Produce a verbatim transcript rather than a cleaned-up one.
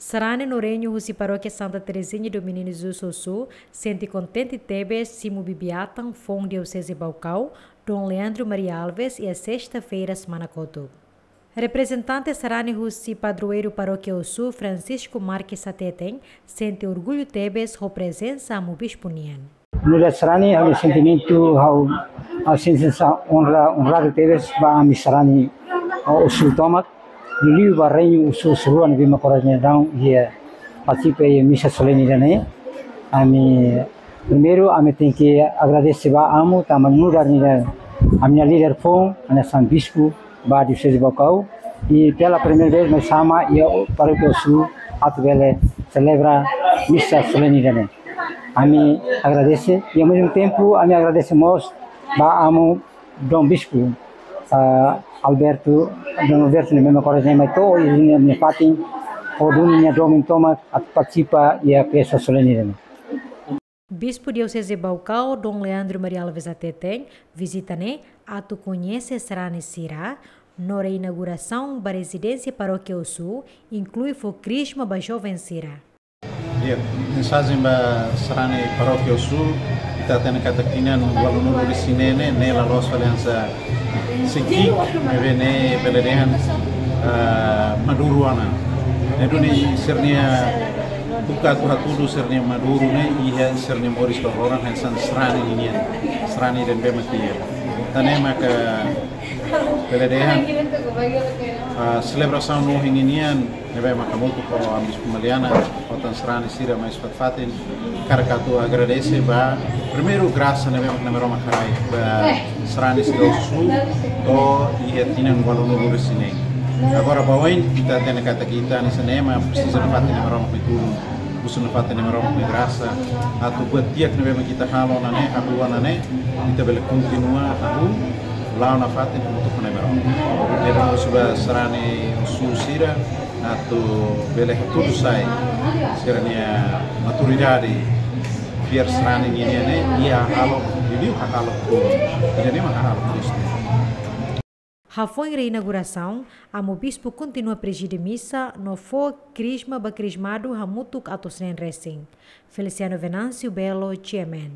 Sarani no reinu husi Parókia Santa Terezinha do Menino Jesus Ossu sente kontente tebes simu bibi-atan foun Dioseze Baucau, Dom Leandro Maria Alves, iha sesta-feira semana kotuk. Reprezentante sarani husi padroeiru Parókia Ossu, Francisco Marques hateten, sente orgullu tebes ho prezensa Amu Bispu nian. Nu'udar sarani, ha'u-nia sentimentu, ha'u, ha'u sente sensasaun onra, onradu tebes ba ami sarani, uh, Ossu tomak, liuliu ba reinu Ossu Ossu Rua ne'ebé mak oras ne'e daudaun iha partisipa iha misa solene ida-ne'e. Ami, primeiru, ami tenke agradese ba Amu, tanba nu'udar nia, ami-nia líder foun, ami-nia San Bispu ba Dioseze Baucau, i pela primeira vez mai sama iha Parókia Ossu atu bele selebra misa solene ida-ne'e. Ami agradese, i ao mesmo tempo, ami agradese mós ba Amu Dom Bispu, ah, Alberto, Dom Alberto ne'ebé mak oras ne'e mai to'o iha nia fatin, hodi duni nia domin tomak atu partisipa iha festa solene ida-ne'e. Bispu Dioseze Baucau, Dom Leandro Maria Alves hateten, vizita ne'e atu koñese sarani sira, no reinaugurasaun ba rezidénsia Parókia Ossu, inklui fó krizma ba joven sira. Di'ak, mensajen ba sarani Parókia Ossu, ita hatene katak tinan ualunulu-resin-neen ne'e, ne'e la loos fali hanesan sei ki'ik, ne'ebé ne'e bele dehan, ah, maduru ona. Ne'e duni sira-nia buka atu hatudu sira-nia maduru ne'e iha sira-nia moris loroloron hanesan sarani ninian, sarani ida ne'ebé mak iha. Tan ne'e maka bele dehan, ah, selebrasaun ohin ninian ne'ebé mak hamutuk ho Amu Bispu Maliana, ho tan sarani sira mai fatin-fatin, hakarak atu agradese ba, primeiru, grasa ne'ebé mak Nai Maromak haraik ba sarani sira Ossu to'o iha tinan ualunulu-resin-neen. Agora ba oin, ita hatene katak ita hanesan ema presiza nafatin Nai Maromak nia tulun, husu nafatin Nai Maromak nia grasa, atu buat di'ak ne'ebé mak ita halo ona ne'e, hahú ona ne'e, ita bele kontinua hahú, la'o nafatin hamutuk ho Nai Maromak. Ne'e duni husu ba sarani Ossu sira, atu bele hatudu sai sira-nia maturidade fiar sarani ninian ne'e iha hahalok, liuliu hahalok ruma, ida-ne'e mak hahalok Kristu. Hafoin reinaugurasaun, Amu Bispu kontinua prezide misa no fó krizma ba krizmadu hamutuk atus neen resin. Feliciano Venâncio Belo, G M N.